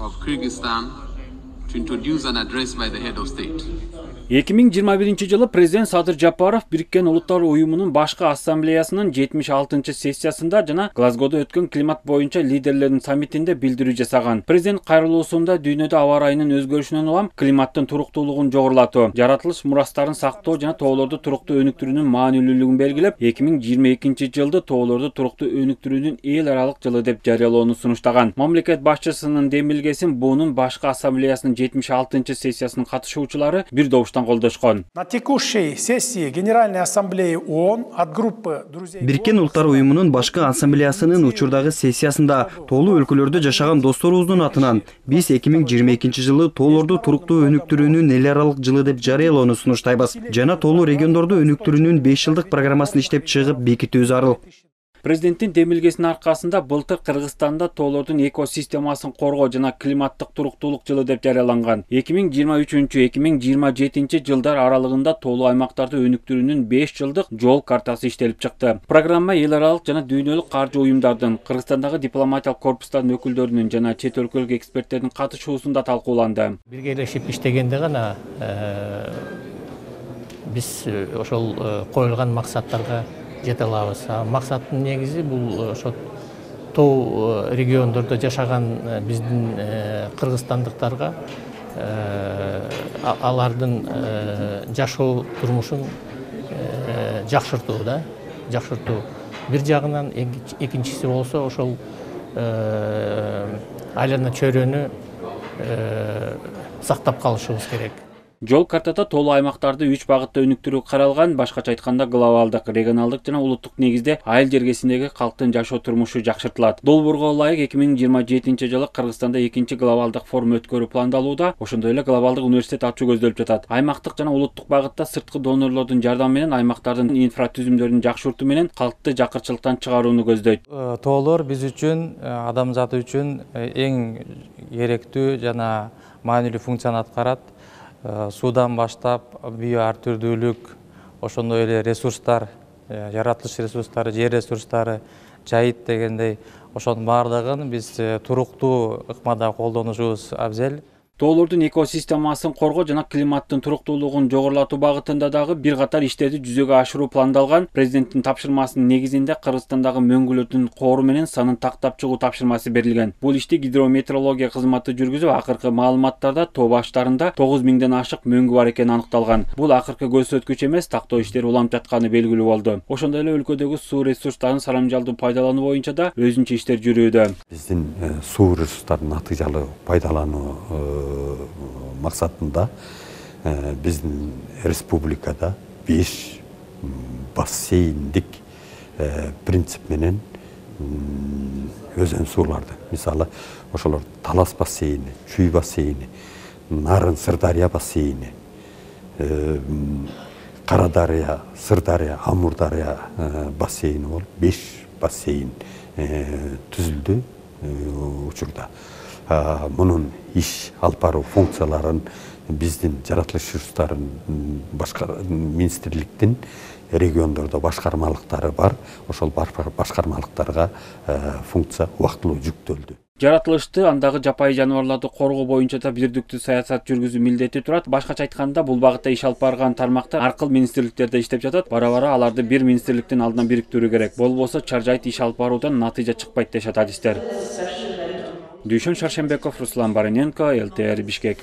of Kyrgyzstan to introduce an address by the head of state. 2021-жылы президент Садыр Жапаров Бириккен Улуттар Уюмунун башкы ассамблеясынын 76-сессиясында жана Глазгодо өткөн климат боюнча лидерлердин саммитинде билдирүү жасаган. Президент кайрылуусунда дүйнөдө аба ырайынын өзгөрүшүнөн улам климаттын туруктуулугун жогорулатуу, жаратылыш мурастарын сактоо жана тоолорду туруктуу өнүктүрүүнүн маанилүүлүгүн белгилеп, 2022-жылды тоолорду туруктуу өнүктүрүүнүн эл аралык жылы деп жарыялоону сунуштаган. Мамлекет башчысынын демилгесин буунун башкы ассамблеясынын 76-сессиясынын катышуучулары бир добуштан колдошкон. На текущей сессии Генеральной ассамблеи ООН от группы друзей Бириккен Улуттар Уюмунун башкы ассамблеясынын учурдагы сессиясында тоолуу өлкөлөрдө жашаган досторубуздун атынан биз 2022-жылы тоолорду туруктуу өнүктүрүүнүн эл аралык жылы деп жарыялоону сунуштайбыз жана тоолуу региондорду өнүктүрүүнүн 5 жылдык программасын иштеп чыгып бекитүү зарыл. Президенттин демилгесинин аркасында былтыр Кыргызстанда тоолордун экосистемасын коргоо жана климаттык туруктуулук жылы деп жарыяланган. 2023-2027 жылдар аралыгында тоолуу аймактарды өнүктүрүүнүн 5 жылдык жол картасы иштелип чыкты. Программа эл аралык жана дүйнөлүк каржы уюмдардын, Кыргызстандагы дипломатиялык корпустардын өкүлдөрүнүн жана чет өлкөлүк эксперттердин катышуусунда талкууланды. Биргелешип иштегенде гана биз ошол коюлган максаттарга жете алабыз. Максаттын негизи бул ошо тоо региондордо жашаган биздин кыргызстандыктарга алардын жашоо турмушун жакшыртуу. Бир жагынан экинчиси болсо ошол айлана чөйрөнү сактап калышыбыз керек. Жол картада тоолуу аймактарды 3 багытта өнүктүрүү каралган. Башкача айтканда, глобалдык, регионалдык жана улуттук негизде айыл жергесиндеги калктын жашоо турмушу жакшыртылат. Долбоорго ылайык 2027-жылы Кыргызстанда 2-чи глобалдык форум өткөрүү пландалууда, ошондой эле глобалдык университет ачуу көзделип жатат. Аймактык жана улуттук багытта сырткы донорлордун жардамы менен аймактардын инфратүзүмдөрүн жакшыртуу менен калкты жакырчылыктан чыгарууну көздөйт. Тоолор биз үчүн, адамзат үчүн эң керектүү жана маанилүү функцияны аткарат. Суудан баштап био ар түрдүүлүк, ошондой эле ресурстар, жаратылыш ресурстары, жер ресурстары, жайыт дегендей, ошонун баардыгын биз туруктуу ыкмада колдонушубуз абзел. Тоолордун экосистемасын коргоо жана климаттын туруктуулугун жогорулатуу багытында дагы бир катар иштерди жүзөгө ашыруу пландалган. Президенттин тапшырмасынын негизинде Кыргызстандагы мөңгүлөрдүн коору менен санын тактап чыгуу тапшырмасы берилген. Бул ишти гидрометеорология кызматы жүргүзүп, акыркы маалыматтарда тоо баштарында 9000ден ашык мөңгү бар экени аныкталган. Бул акыркы көрсөткүч эмес, тактоо иштери уланып жатканы белгилүү болду. Ошондой эле өлкөдөгү суу ресурстарын сарамжалдуу пайдалануу боюнча да өзүнчө иштер жүрүүдө. Биздин суу ресурстарын натыйжалуу пайдалануу максатында биздин республикада 5 бассейндик принцип менен өзөн сууларды, мисалы ошолор Талас бассейни, Чүй бассейни, Нарын Сырдария бассейни, Карадария, Сырдария, Амурдария бассейни болуп 5 бассейн түзүлдү учурда. Мунун иш алып баруу функцияларын биздин жаратылыш ресурстарын министрликтин региондордо башкармалыктары бар. Ошол башкармалыктарга функция убактылуу жүктөлдү. Жаратылышты, андагы жапайы жаныбарларды коргоо боюнча да бирдиктүү саясат жүргүзүү милдети турат. Башкача айтканда, бул багытта иш алып барган тармактар ар кыл министрликтерде иштеп жатат. Бара-бара аларды бир министрликтин алдына бириктирүү керек. Болбосо чаржайыт иш алып баруудан натыйжа чыкпайт дешет адистер. Дүйшөн Шаршембеков, Руслан Барыненко, ЛТР Бишкек.